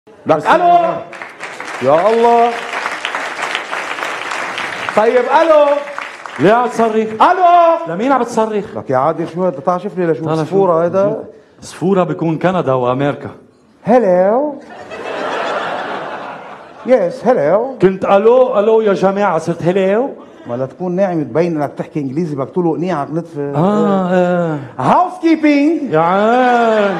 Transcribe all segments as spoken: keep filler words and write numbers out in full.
لك الو يا الله. طيب الو ليه عم تصرخ؟ الو لمين عم بتصرخ؟ لك يا عادل شو هذا؟ تعال شوف لي لشو تعال صفورة شوف. هذا. صفورة بيكون كندا وامريكا. هلو يس هلو. كنت الو الو يا جماعة صرت هلو؟ ما لا تكون ناعم تبين انك تحكي انجليزي بدك تقول له قنيعك نتفه. اه اه هاوس كيبينج. يا عين.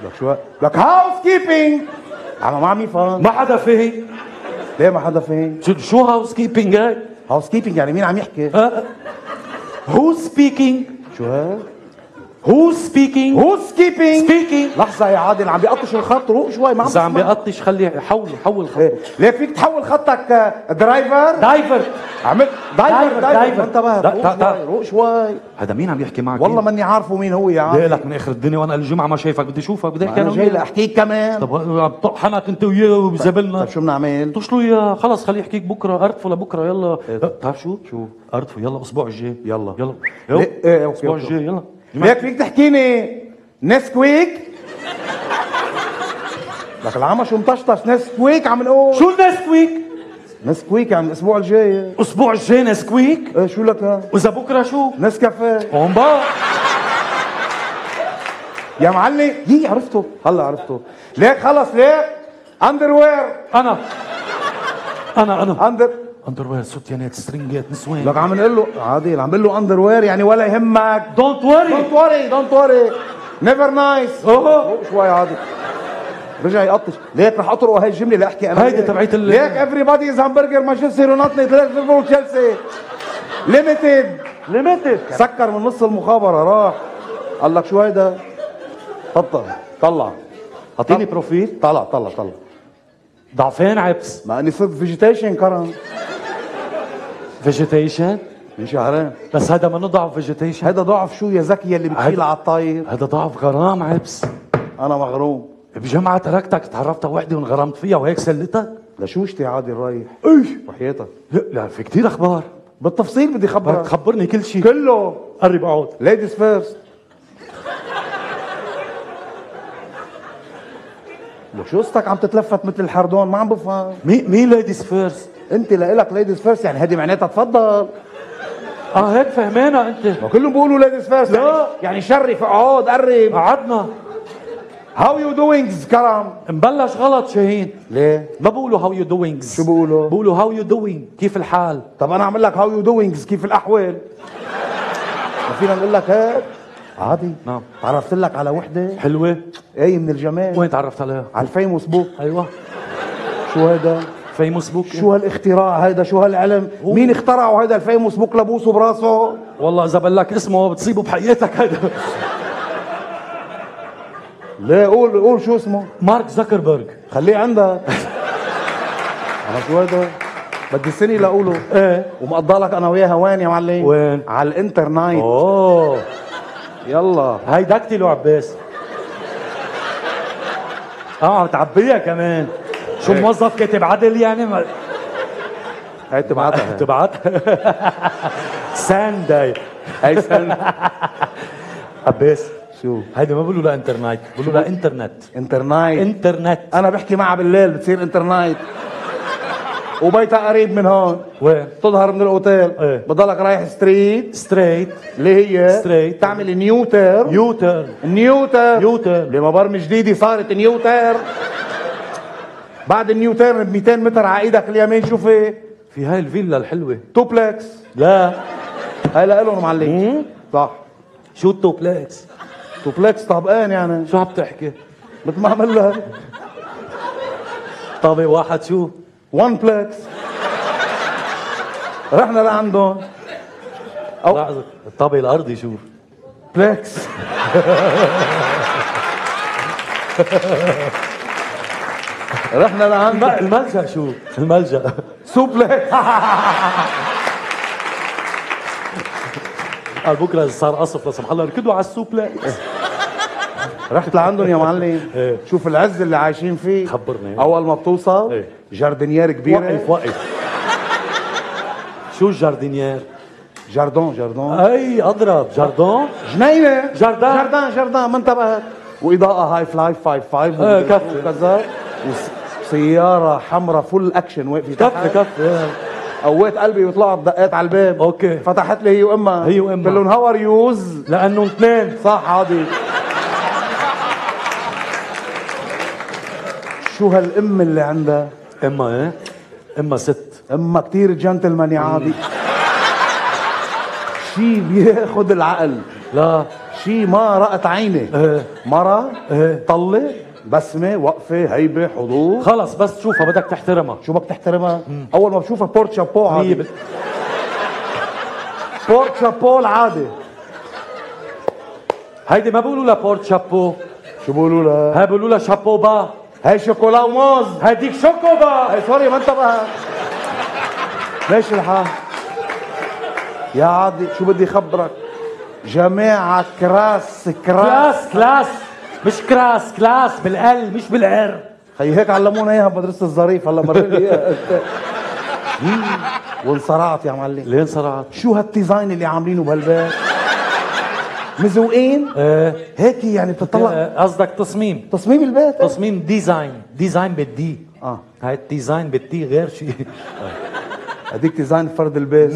لك شو لك هاوس كيبينج. عم ما عم يفهم. ما حدا فهم. ليه ما حدا فهم؟ شو شو هاوس كيبينج هاي؟ هاوس كيبينج يعني مين عم يحكي؟ هو سبيكينج؟ شو هاد؟ هو سبيكينج؟ هو سكيبينج؟ سبيكينج. لحظة يا عادل عم بيقطش الخط، روق شوي ما عم إذا عم بسمع. بيقطش خليه حول حول خط. إيه. ليك فيك تحول خطك آه، درايفر؟ دايفر. عملت دايفر دايفر، دايفر دايفر. ما انتبهت. دا- روق دا- دا. شوي روق شوي. هذا مين عم يحكي معك؟ والله ماني عارفه مين هو يا عم. ليه لك من اخر الدنيا وانا الجمعة ما شايفك بدي اشوفك بدي احكي انا انا جاي وياك. لاحكيك كمان. طب عم طحنك انت وياه وبزبلنا. طيب شو بنعمل؟ اتصلوا يا خلص خليه يحكيك بكره ارتفوا لبكره يلا. إيه. بتعرف شو؟ شو؟ ارتفوا يلا الاسبوع الجاي. يلا. يلا ليه؟ يلا ايه اوكي الاسبوع أوكي. الجاي يلا. ليك فيك تحكيني نسكويك؟ لك العمى شو مطشطش. نسكويك عم نقول. شو النسكويك؟ نسكويك يعني الاسبوع الجاي. الاسبوع الجاي نسكويك؟ ايه شو لك ها؟ واذا بكره شو؟ نسكافيه. هون بقى. يا معلم يي عرفته هلا عرفته. ليك خلص ليك اندروير. انا انا انا اندر اندروير سوتيانات سترينجات نسوان. لك عم نقول له عادل عم نقول له اندروير يعني ولا يهمك. دونت وري. دونت وري دونت وري نيفر نايس. اوه شوي عادل رجع يقطش. ليك رح اطرق هاي الجمله لاحكي انا. هيدي تبعت ال ليك افري از همبرجر مانشستر يونايتد ليفربول تشيلسي ليميتد. ليميتد. سكر من نص المخابره راح. قال لك شو هيدا؟ تفضل طلع. اعطيني بروفيل. طلع طلع طلع. ضعفين عبس. ما اني صرت فيجيتيشن كرم فيجيتيشن. من شهرين. بس هذا منه ضعف فيجيتيشن. هيدا ضعف شو يا زكي اللي بتشيل هيدا- على الطاير. هذا ضعف غرام عبس. انا مغروم. بجمعة تركتك تعرفت على وحدة وانغرمت فيها وهيك سلتك؟ لشوشتي عادي رايح. ايش؟ وحياتك لا, لا في كثير اخبار. بالتفصيل بدي بدك خبرك تخبرني كل شيء. كله. قرب اقعد. ليديز فيرست. لك شو قصتك عم تتلفت مثل الحردون ما عم بفهم. مين مين ليديز فيرست؟ انت لإلك ليديز فيرست يعني هدي معناتها تفضل. اه هيك فهمانة انت. ما كلهم بيقولوا ليديز فيرست. لا. يعني, يعني شرف اقعد قرب. قعدنا. هاو يو دوينجز كرم. مبلش غلط شاهين. ليه؟ ما بقولوا هاو يو دوينجز. شو بقولوا؟ بقولوا هاو يو دوينج كيف الحال؟ طب انا اعمل لك هاو يو دوينجز كيف الاحوال؟ ما فينا نقول لك هيك؟ عادي. نعم. تعرفت لك على وحده حلوة. ايه من الجمال. وين تعرفت عليها؟ على الفيموس بوك. ايوه. شو هيدا؟ فيموس بوك. شو هالاختراع هيدا؟ شو هالعلم؟ هو. مين اخترعه هيدا الفيموس بوك لبوسه براسه؟ والله اذا بقول لك اسمه بتصيبه بحياتك هذا. ليه قول قول شو اسمه؟ مارك زكربرج. خليه عندك. على شو هيدا؟ بدي سنه لاقوله. ايه. ومقضى لك انا وياها وين يا معلم؟ وين؟ على الانترنت. اوه يلا هاي دكتي عباس. اه عم تعبيها كمان. شو هيك. موظف كاتب عدل يعني ما... هي تبعتها. تبعت سانداي. هي سنة. عباس شو؟ هيدي ما بقولوا لها انترنت بقولوا لها انترنت. انترنت. انترنت. انا بحكي معها بالليل بتصير انترنت. وبيتها قريب من هون. وين؟ تظهر من الاوتيل. ايه. بضلك رايح ستريت ستريت. اللي هي ستريت. تعمل نيوتر. يوتر. نيوتر. يوتر. لما برمج جديده صارت نيوتر. بعد النيوتر ب مئتين متر على ايدك اليمين شو في؟ في هاي الفيلا الحلوة. توبلكس. لا. هاي لهم معلم. صح. شو التوبلكس؟ توبلكس طابقين يعني. شو عم تحكي؟ مثل ما عمل لها طابق واحد شو؟ وان بلكس. رحنا لعندهم. أو لحظة الطابق الأرضي شو؟ بلكس. رحنا لعندهم. الملجأ شو؟ الملجأ سوبلكس. قال بكره صار قصف لا سمح الله ركضوا على السوبلكس. رحت لعندهم يا معلم. إيه. شوف العز اللي عايشين فيه. خبرني. اول ما بتوصل إيه. جاردينيير كبيره. وقف وقف. شو الجاردينيير؟ جاردون جاردون. اي اضرب جاردون. جنينه. جاردان. جاردان جاردان ما انتبهت. واضاءه هاي فلاي فايف فايف ايه كفي وكذا، وسياره حمراء فل اكشن واقفه كفي كفي. قويت قلبي وطلعت دقيت على الباب. اوكي. فتحت لي هي وامها. هي وامها. قلت لهم هاو ار يوز لانه اثنين. صح عادي. شو هالام اللي عندها؟ اما ايه؟ اما ست. اما كتير جنتلمان يا عادي. شي بياخد العقل. لا شي ما رأت عيني. ايه مرة ايه طلة بسمة وقفة هيبة حضور. خلص بس تشوفها بدك تحترمها. شو بدك تحترمها؟ مم. أول ما بشوفها بورت شابو عادي. بال... بورت شابو العادي. هيدي ما بيقولوا لها بورت شابو. شو بيقولوا لها؟ هاي بيقولوا لها شابو با. هاي شوكولا وموز. هيديك شوكو با. هاي سوري ما انتبه. ماشي الحال. يا عادي شو بدي خبرك؟ جماعة كراس كراس كلاس كلاس مش كراس كلاس بالال مش بالار. خي هيك علمونا اياها بمدرسة الظريف هلا مرينا اياها. وانصرعت يا معلم. ليه انصرعت؟ شو هالديزاين اللي عاملينه بهالبيت؟ مزوقين؟ ايه هيك يعني بتطلع. إيه، قصدك تصميم. تصميم البيت. تصميم ديزاين. ديزاين بالدي. اه هاي الديزاين بالتي غير شيء. هديك ديزاين فرد البيت.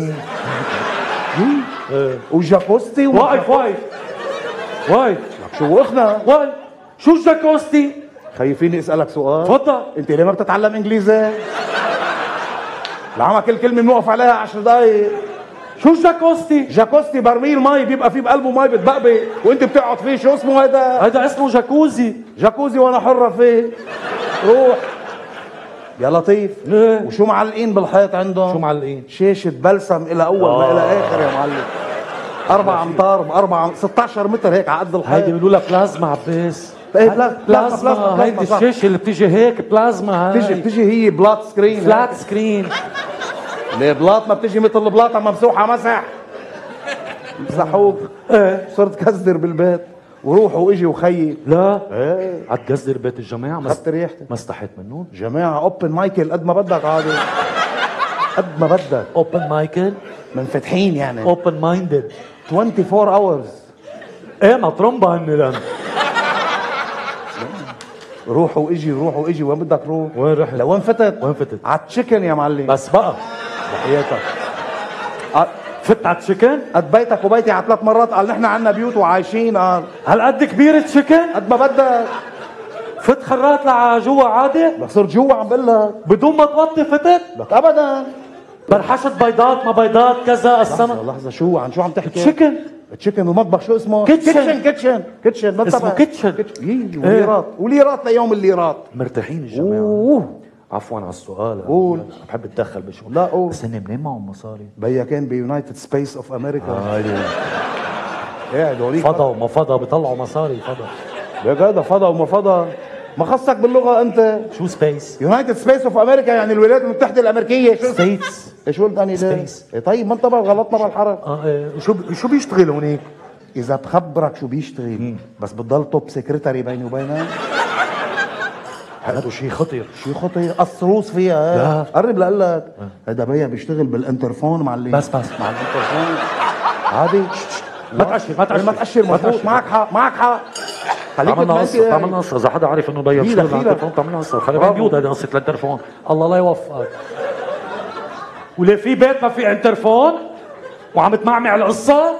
ايه وجاكوستي و... واقف واقف واقف. شو وقفنا؟ واقف. شو الجاكوستي؟ خايفيني اسالك سؤال؟ تفضل. انت ليه ما بتتعلم انجليزي؟ لعما كل كلمه بنوقف عليها عشر دقايق. شو الجاكوستي؟ جاكوستي برميل مي بيبقى فيه بقلبه مي بتبقبق وانت بتقعد فيه. شو اسمه هيدا؟ هذا اسمه جاكوزي. جاكوزي وانا حره فيه. روح يا لطيف. ليه؟ وشو معلقين بالحيط عندهم؟ شو معلقين؟ شاشة بلسم إلى أول ما آه. إلى آخر يا معلم. أربع أمتار بأربع ستة عشر متر هيك على قد الحيط. هيدي بيقولوا لها بلازما عباس. إيه بلا- بلازما بلازما. هيدي صح. الشاشة اللي بتيجي هيك بلازما. هاي بتجي بتجي هي بلاط سكرين. فلات سكرين. ليه بلاط ما بتجي مثل البلاطة ممسوحة مسح. مسحوك. ايه صرت كزدر بالبيت وروحوا واجي وخيي. لا ايه عتقزر بيت الجماعة. ما خدت ريحتي. ما استحيت منهم. جماعة اوبن مايكل قد ما بدك عادي. قد ما بدك. اوبن مايكل. منفتحين يعني. اوبن مايندد. أربعة وعشرين اورز. ايه ما ترمبا هني لان. روحوا واجي روحوا واجي. وين بدك روح؟ وين رحت؟ لوين فتت؟ وين فتت؟ على التشيكن يا معلم. بس بقى بحياتك. فت على تشيكن. قد بيتك وبيتي على ثلاث مرات. قال نحن عنا بيوت وعايشين. قال هالقد كبير تشيكن؟ قد ما بدك. فت خرات لجوا عادي؟ لك صرت جوا عم بقول لك. بدون ما توطي فتت؟ لك ابدا. برحشت بيضات ما بيضات كذا السنة. لحظة لحظة شو عن شو عم تحكي؟ تشيكن. تشيكن المطبخ شو اسمه؟ كيتشن. كيتشن كيتشن كيتشن ما اسمه انتبه. كيتشن. يي وليرات وليرات ليوم الليرات. مرتاحين الجماعة. اوه عفوا على السؤال. قول. بحب اتدخل بشغل. لا قول. بس هن منين معهم مصاري؟ بيا كان بيونايتد سبيس اوف امريكا. هاي قاعد هوريك فضا وما فضا بيطلعوا مصاري. فضا يا جدع فضا وما فضا. ما خصك باللغه انت. شو سبيس؟ يونايتد سبيس اوف امريكا يعني الولايات المتحده الامريكيه. شو ستيتس. شو الثاني ده؟ Space. إيه طيب ما انتبه غلطنا بالحرف. اه ايه وشو ب... شو بيشتغل هونيك؟ اذا بخبرك شو بيشتغل بس بتضل توب سكرتري بيني وبينك. هذا شيء خطير. شو خطير؟ قصروص فيها. لا. قرب لقول لك هذا بيا بيشتغل بالانترفون معلم. بس بس مع الانترفون عادي. ما تأشر ما تأشر ما تأشر مضبوط. معك حق معك حق. خليك عملنا بتمسك. قصة عملنا قصة إذا حدا عارف إنه بيا دخيلة، بيشتغل على دخيلة. التليفون عملنا قصة. خلي برافو. بالك بيوت هذه قصة الانترفون. الله لا يوفقك. وليه في بيت ما في انترفون وعم تمعمع القصة؟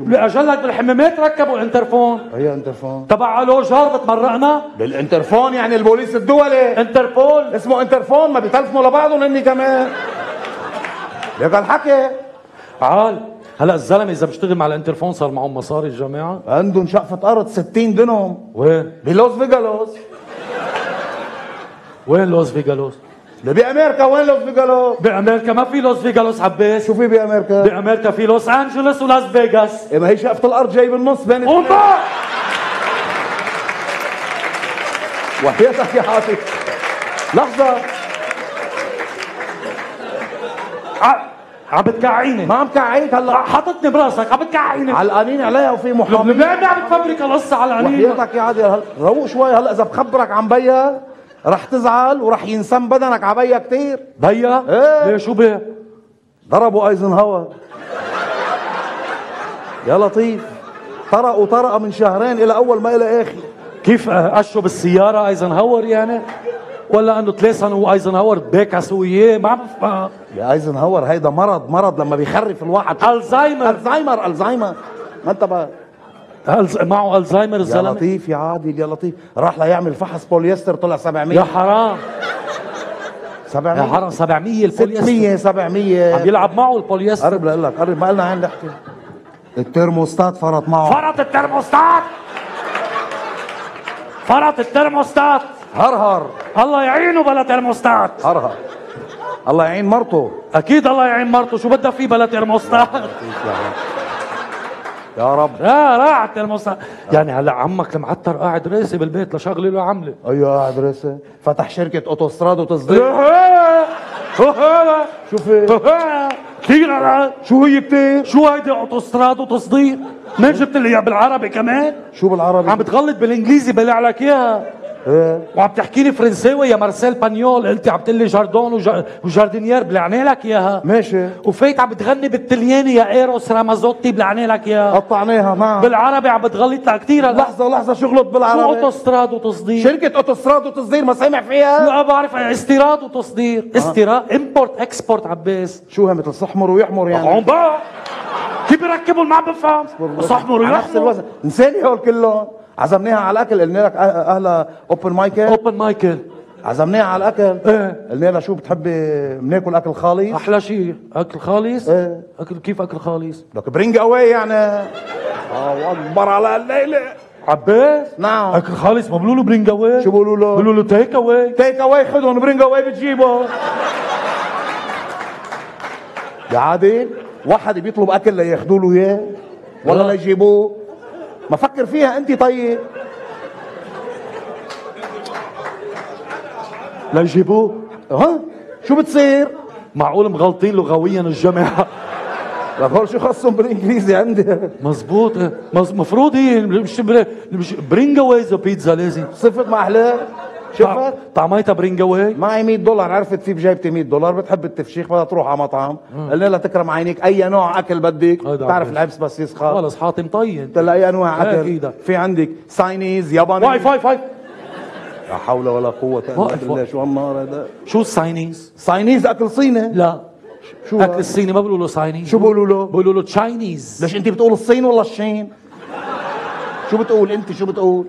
لأجلك بالحمامات ركبوا انترفون هي انترفون تبع الو جار بتمرقنا. بالانترفون يعني البوليس الدولي. انتربول اسمه انترفون. ما بيتلفنوا لبعضهم هني كمان. ليك الحكي. عال. هلا الزلمه اذا بيشتغل مع الانترفون صار معهم مصاري الجماعه. عندهم شقفة أرض ستين دنهم وين؟ بلوس فيجالوس. وين لوس فيجالوس؟ ده بأمريكا. وين لوس فيجالوس؟ بامريكا ما في لوس فيجالوس عباس. شو في بأمريكا؟ بامريكا في لوس انجلوس ولاس فيغاس. إيه ما هي شقفة الأرض جاي بالنص بين قوم بقى. وحياتك يا حاتم. لحظة. ع- عم بتكعيني. ما عم كعيك هلا. حاططني براسك عم بتكعيني. علقانين عليها وفي محامي. لبنان عم تفبرك القصه على العنين. وحياتك يا عادل هل- روق شوي. هلا إذا بخبرك عن بيا رح تزعل ورح ينسم بدنك على بيا كتير. بيا؟ إيه. ليه شو بيه؟ ضربوا ايزنهاور يا لطيف. طرقوا طرقه من شهرين الى اول ما الى اخر. كيف قشوا بالسيارة ايزنهاور يعني؟ ولا انه تليسن هو ايزنهاور بيكسوا اياه؟ ما بفهم. يا ايزنهاور هيدا مرض مرض لما بيخرف الواحد. الزهايمر الزهايمر الزهايمر ما انت بقى ألز... معه الزهايمر يا الزلمه. لطيف يا عادل يا لطيف، راح ليعمل فحص بوليستر طلع سبعمية. يا حرام سبعمية يا حرام سبعمية البوليستر. ستمية سبعمية عم يلعب معه البوليستر. قرب لقول لك قرب، ما قلنا عين نحكي. الترموستات فرط معه. فرط الترموستات، فرط الترموستات. هرهر الله يعينه بلا ترموستات. هرهر الله يعين مرته. اكيد الله يعين مرته، شو بدها فيه بلا ترموستات؟ يا رب. لا راح الترموستات. يعني هلا عمك المعتر قاعد راسي بالبيت لشغله له عمله. ايوه قاعد راسي، فتح شركة اوتوستراد وتصدير. شوف كثير على شو هي كتير؟ شو هيدي اوتوستراد وتصدير؟ ما جبت لي اياها بالعربي كمان؟ شو بالعربي؟ عم بتغلط بالانجليزي بلع لك اياها. ايه وعم تحكي لي فرنساوي يا مارسيل بانيول، قلت عم تقول لي جاردون وجا... وجاردينيير بلعني لك اياها. ماشي. وفايت عم بتغني بالتلياني يا ايروس رامازوتي بلعني لك اياها. قطعناها معها بالعربي عم بتغلط لها كثير. لحظة لحظة شو غلط شو بالعربي؟ اوتوستراد وتصدير؟ شركة اوتوستراد وتصدير ما سامع فيها؟ لا بعرف استيراد وتصدير. استيراد امبورت اكسبورت عباس. شو هي مثل صحمر ويحمر يعني؟ عم بقى كيف بيركبوا ما عم بفهم. صحمر على نفس ويحمر. الوزن. نساني هول كلهم. عزمناها على الاكل، قلنا لك اهلا اوبن مايكل. اوبن مايكل. عزمناها على الاكل. ايه قلنا لها شو بتحبي بناكل اكل خالص؟ احلى شيء اكل خالص. ايه. اكل كيف اكل خالص؟ لك برينج اواي يعني. الله اكبر على الليله. عباس نعم. اكل خالص ما بقولوا له برينج اواي؟ شو بقولوا له؟ بقولوا له تيك اواي. تيك اواي خدهم، برينج اواي بتجيبه. يا عادل واحد بيطلب اكل لياخذوا له اياه ولا لا. ليجيبوه؟ ما فكر فيها انت. طيب ليجيبوه. ها شو بتصير؟ معقول مغلطين لغويا الجماعه؟ لك هول شو خصهم بالانجليزي عندي؟ مزبوط. مز... مفروض هي مش بر... مش برينج اواي ذا بيتزا لازم. صفت ما احلاه. شفت؟ طعميتها برينج اواي. معي مية دولار، عرفت في بجيبتي مية دولار، بتحب التفشيخ بدها تروح على مطعم، قلنا لها تكرم عينيك اي نوع اكل بدك، بتعرف العبس بس يسخن. خلص حاطم طين. قلت لها اي انواع اكل؟ أكيد. في عندك ساينيز ياباني. واي فاي فاي. لا حول ولا قوة الا واقف بالله. واقف. شو هالنار هذا؟ شو الساينيز؟ ساينيز اكل صيني؟ لا شو اكل هاد؟ الصيني ما بيقولوا له ساينيز. شو بيقولوا له؟ بيقولوا له تشاينيز. ليش انت بتقول الصين ولا الشين؟ شو بتقول انت؟ شو بتقول؟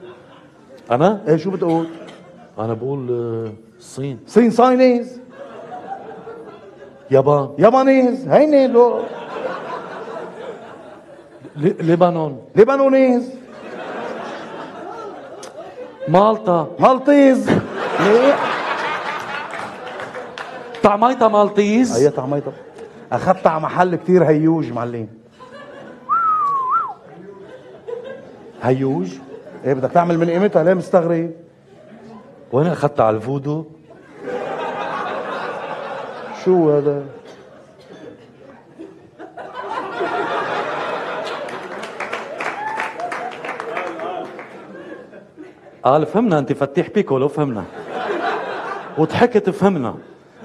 انا؟ ايه شو بتقول؟ انا بقول آه، الصين. صين ساينيز، يابان. يابانيز، هيني لو لي- لبنان. لبنانيز، مالطا. مالطيز. ليه؟ طعميتها مالطيز. هي طعميتها اخذتها على محل كتير هيوج معلم. هيوج. ايه بدك تعمل من قيمتها؟ ليه مستغرب؟ وين اخذتها على الفودو؟ شو هذا؟ قال فهمنا انت فتيح بيكولو فهمنا وضحكت فهمنا،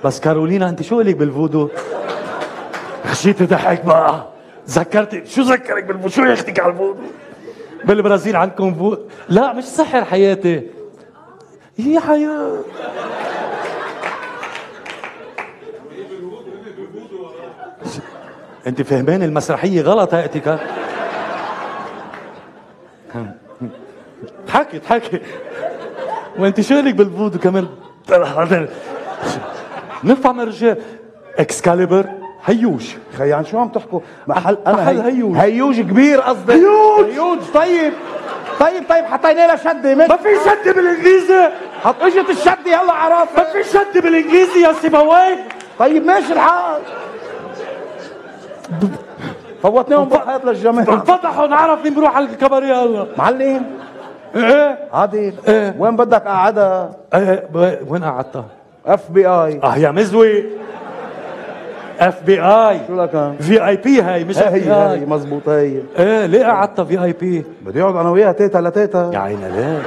بس كارولينا انت شو لك بالفودو؟ خشيت ضحك بقى. ذكرت شو ذكرك بالفودو؟ شو ياخدك على الفودو؟ بالبرازيل عندكم فودو؟ لا مش سحر حياتي، هي حياة. انت فهمان المسرحية غلط هاتك. حكي حكي وانت شالك بالفودو كمان. نفهم الرجال. اكسكاليبر هيوش. خي عن شو عم تحكوا؟ محل انا محل هيوج. هيوج كبير قصدي. هيوج. هيوج. طيب طيب طيب حطينا لها شده. ما في شد بالانجليزي. حط اجت الشده يلا عرفت. ما في شد بالانجليزي يا سيبويه. طيب ماشي الحال. فوتناهم بالحياة للجماعة. انفضحوا نعرف مين بروح على الكباريه هلا. معلم ايه عادل إيه. وين بدك قعدها؟ ايه ب- وين قعدتها؟ اف بي اي. اه يا مزوي. اف بي اي. شو لك؟ في اي بي هاي مش اف هي بي هي اي. مزبوط هي. ايه ليه قعدتها في اي بي؟ بدي اقعد انا وياها تيتا لتيتا. يا عيني ليه؟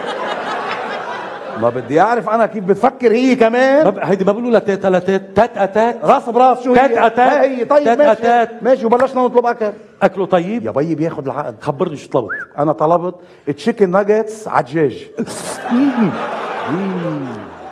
ما بدي اعرف انا كيف بتفكر هي كمان. ما ب- هيدي ما بيقولوا لها تيت على تيت، تات اتات، راس براس شو هي؟ تات أتات. هي طيب تات ماشي أتات. ماشي وبلشنا نطلب اكل. اكله طيب. يا بيي بياخد العقد. خبرني شو طلبت. انا طلبت تشيكن ناجتس عدجاج.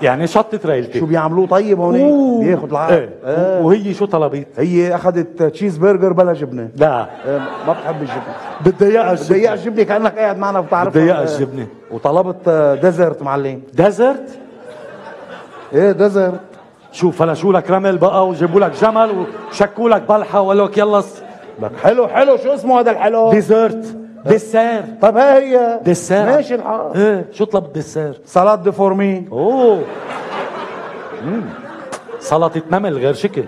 يعني شطت ريلتي. شو بيعملوه طيب هون؟ بياخد العقد. ايه. آه. وهي شو طلبت؟ هي اخذت تشيز برجر بلا جبنه. لا آه. ما بتحب الجبنه. بدي اياها بدي اياها الجبنه كانك قاعد معنا بتعرف. بدي اياها الجبنه. وطلبت آه، ديزرت معلم. ديزرت. ايه ديزرت. شو فلشوا لك رمل بقى وجابوا لك جمل وشكوا لك بلحه وقالوا لك يلا س- لك حلو حلو شو اسمه هذا الحلو؟ ديزرت. ديسير. طب ها هي ديسير. ماشي الحال. ايه شو طلب ديسير؟ سلطه دي فورمي. اوه مم. سلطة نمل غير شكل.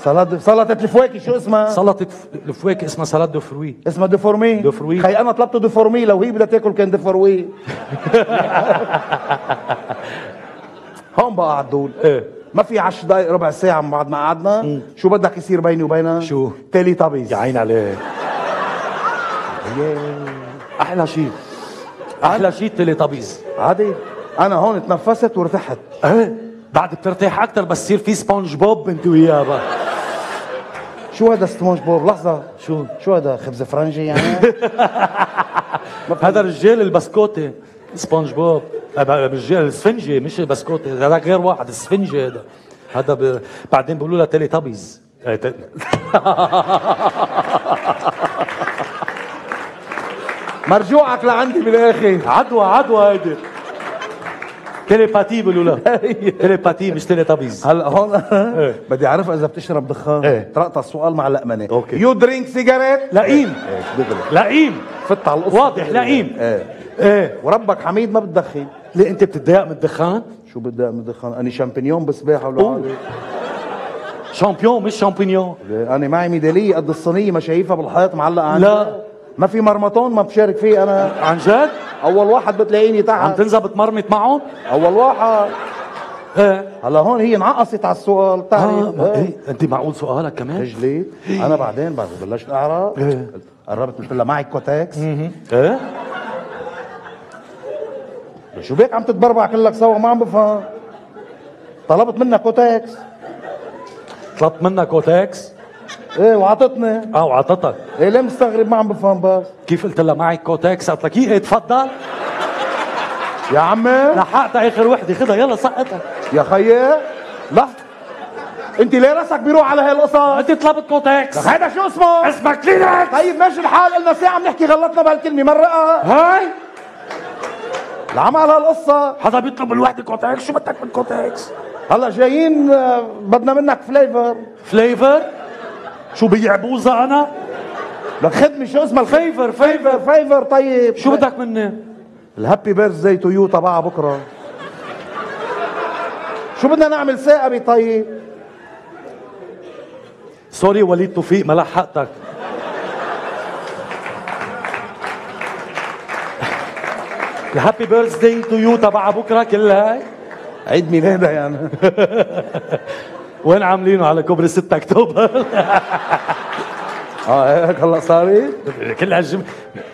سلطه سلطه الفواكه شو اسمها؟ سلطة ف- الفواكه اسمها سلطة دو فروي. اسمها دي فورمي. دي فروي. خي انا طلبت دي فورمي لو هي بدها تاكل كان دي فروي. هون بقى عدول. ايه ما في عشر دقائق ربع ساعة من بعد ما قعدنا. شو بدك يصير بيني وبينها؟ شو؟ تيلي تابيز. يا عين عليك. احلى شيء احلى شيء تيلي طبيز. عادي. انا هون تنفست وارتحت. ايه بعد بترتاح اكثر بس يصير في سبونج بوب انت وياه بقى. شو هذا سبونج بوب؟ لحظة. شو شو هذا خبز فرنجي يعني؟ هذا رجال البسكوتي سبونج بوب. رجال السفنجي مش البسكوتي، هذا غير واحد السفنجي هذا. هذا ب... بعدين بيقولوا لها تيلي طبيز. إيه، ت- مرجوعك لعندي بالاخر. عدوى عدوى هيدي. تيليباتي بيقولوا لها. تيليباتي مش تيلي طبيز. هلا هون إيه. بدي اعرف اذا بتشرب دخان. إيه. ترقط السؤال مع اللقمنه. أوكي. يو درينك سيجاريت؟ لئيم ايه دغري. لئيم فت على القصة. واضح لئيم. ايه. ايه وربك حميد ما بتدخن. ليه انت بتتضايق من الدخان؟ شو بدي من الدخان؟ اني شامبينيون بسباحه ولا عادي. شامبيون مش شامبينيون. انا معي ميداليه قد الصينيه ما شايفها بالحيط معلقه عندي. لا. ما في مرمطون ما بشارك فيه انا. عن جد؟ اول واحد بتلاقيني عم تحت. تنزل بتمرمط معهم؟ اول واحد. ايه هلا هون هي انعقصت على السؤال اه بتعرف. ما ايه انت معقول سؤالك كمان؟ رجليت انا بعدين بعد بلشت اعرق. إيه. قربت قلت لها معي كوتكس. ايه شو بيك عم تتبربع كلك سوا ما عم بفهم. طلبت منها كوتكس. طلبت منك كوتكس؟ ايه وعطتني. اه وعطتك. ايه ليه مستغرب ما عم بفهم بس. كيف قلت لها معي كوتكس؟ قالت لك ايه تفضل. يا عمي لحقتها اخر وحده خدها يلا سقطها. يا خيي لحظة. انت ليه راسك بيروح على هالقصص؟ انت طلبت كوتكس. هيدا شو اسمه؟ اسمك كلينكس. طيب ماشي الحال قلنا ساعة بنحكي غلطنا بهالكلمة مرقة. هاي العمل هالقصة. حدا بيطلب الوحده كوتكس، شو بدك من كوتكس؟ هلا جايين آه، بدنا منك فليفر. فليفر؟ شو بيعبوزة انا؟ لك خدمة شو اسمها الفيفر فيفر فيفر طيب. شو بدك مني؟ الهابي بيرثداي تو يو تبعها بكره. شو بدنا نعمل ثاقبي طيب؟ سوري وليد توفيق ما لحقتك. الهابي بيرثداي تو يو تبع بكره كلها هاي. عيد ميلادها يعني. وين عاملينه على كوبري ستة اكتوبر؟ اه هيك هلا صارت. كل هالجم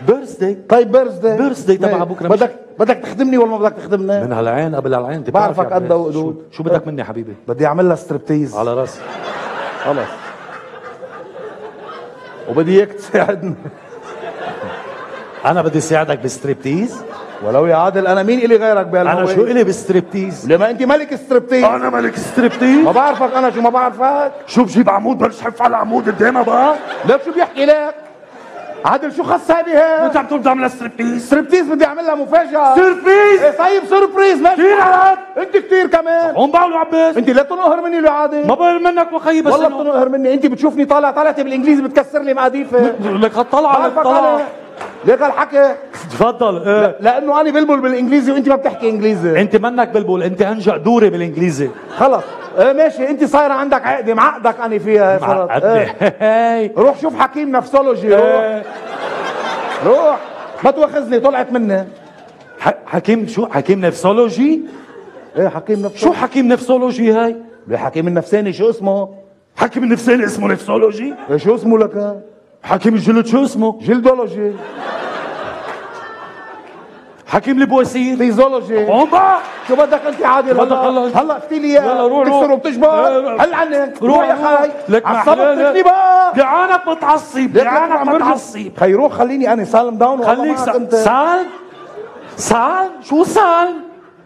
بيرثداي. طيب بيرثداي بيرثداي تبع بكره. بدك بدك تخدمني ولا ما بدك تخدمني؟ من هالعين قبل هالعين انت بعرفك بتعرف قد يعني. وقدود. شو, شو بدك مني حبيبي؟ بدي اعمل لها ستريبتيز. على راسي. خلص. وبدي اياك تساعدني. انا بدي ساعدك بالستريبتيز. ولو يا عادل انا مين الي غيرك بهالهوية؟ انا شو الي بالستريبتيز؟ لما انت ملك ستريبتيز. انا ملك ستريبتيز. ما بعرفك انا شو ما بعرفك. شو بجيب عمود بلشحف على عمود قدامها بقى؟ ليك شو بيحكي لك؟ عادل شو خص هذه هيك؟ انت عم تقول بدي اعمل ستريبتيز. ستريبتيز بدي اعمل لها مفاجأة. سربريز. ايه طيب سربريز ماشي. كثير عاد. انت كثير كمان. هون بقولوا عباس. انت لا تنقهر مني لو عادل. ما بقول منك وخيي بس والله إنه- بتنقهر مني. انت بتشوفني طالع طلعتي بالانجليزي بتكسر لي مقاديفي. لك هالطلعه بعرفك هالطلعه. انا. ليك هالحكي. تفضل. ايه. لانه انا بلبل بالانجليزي وانت ما بتحكي انجليزي. انت منك بلبل، انت انجا دوري بالانجليزي. خلص ايه ماشي. انت صايره عندك عقده معقدك انا فيها صارت. معقدني. ايه. روح شوف حكيم نفسولوجي. روح ايه. روح ما تواخذني طلعت مني. ح- حكيم شو؟ حكيم نفسولوجي؟ ايه حكيم نفسولوجي. شو حكيم نفسولوجي هاي؟ حكيم النفساني شو اسمه؟ حكيم النفساني اسمه نفسولوجي؟ إيه شو اسمه لك؟ حكيم الجلد شو اسمه؟ جلدولوجي. حكيم البواسير فيزيولوجي. قوم بقى. شو بدك انت عادل؟ بدك هلا هلا هلا افتي لي اياه. يلا روح تكسر روح. وبتشبر. روح. هلا عنك روح روح يا خي. لك عصبتني بقى. جعانك متعصب جعانك متعصب. خي روح خليني انا سالم داون. خليك سالم سالم سالم شو سالم؟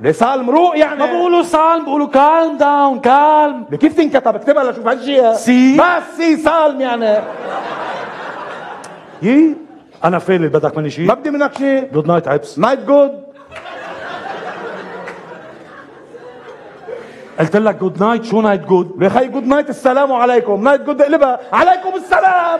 ليه سالم روق يعني؟ ما بقولوا سالم بقولوا كالم داون كالم. كيف تنكتب؟ اكتبها لشوف هالشيء. سي بس سي سالم يعني. يي انا فيلي بدك مني شيء؟ ما بدي منك شيء. جود نايت عبس. نايت جود. قلت لك جود نايت. شو نايت جود؟ يا خي جود نايت السلام عليكم. نايت جود اقلبها عليكم السلام.